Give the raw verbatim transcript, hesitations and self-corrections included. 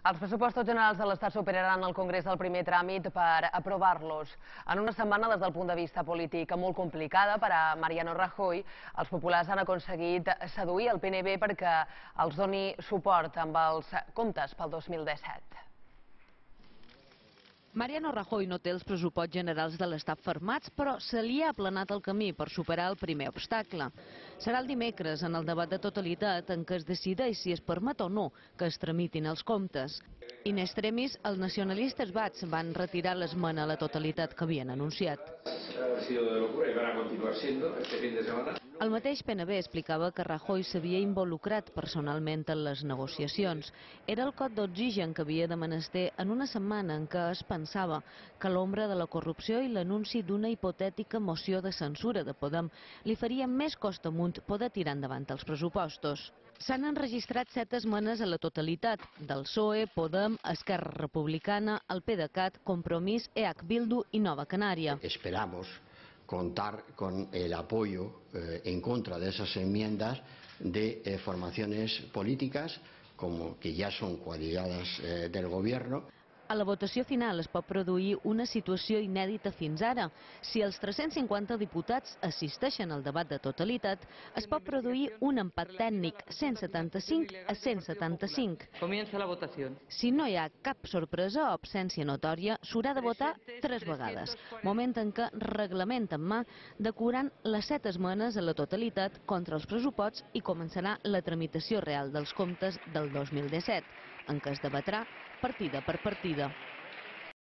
Els pressupostos generals de l'Estat superaran el Congrés del primer tràmit per aprovar-los. En una setmana, des del punt de vista polític molt complicada per a Mariano Rajoy, els populars han aconseguit seduir el P N B perquè els doni suport amb els comptes pel dos mil disset. Mariano Rajoy no té els pressupostos generals de l'Estat firmats, però se li ha aplanat el camí per superar el primer obstacle. Serà el dimecres, en el debat de totalitat, en què es decideix si es permet o no que es tramitin els comptes. In extremis, els nacionalistes bascs van retirar l'esmena a la totalitat que havien anunciat. El mateix P N B explicava que Rajoy s'havia involucrat personalment en les negociacions. Era el cot d'oxigen que havia de menester en una setmana en què es pensava que l'ombra de la corrupció i l'anunci d'una hipotètica moció de censura de Podem li faria més costa amunt poder tirar endavant els pressupostos. S'han enregistrat set esmenes a la totalitat, del P S O E, Podem, Esquerra Republicana, el PDeCAT, Compromís, E H Bildu i Nova Canària. Esperamos contar con el apoyo eh, en contra de esas enmiendas de eh, formaciones políticas como que ya son coaligadas eh, del gobierno. A la votació final es pot produir una situació inèdita fins ara. Si els tres-cents cinquanta diputats assisteixen al debat de totalitat, es pot produir un empat tècnic, cent setanta-cinc a cent setanta-cinc. Comienza la votació. Si no hi ha cap sorpresa o absència notòria, s'haurà de votar tres vegades, moment en què, reglament en mà, decoraran les set esmenes a la totalitat contra els pressupostos i començarà la tramitació real dels comptes del dos mil disset, en què es debatrà partida per partida.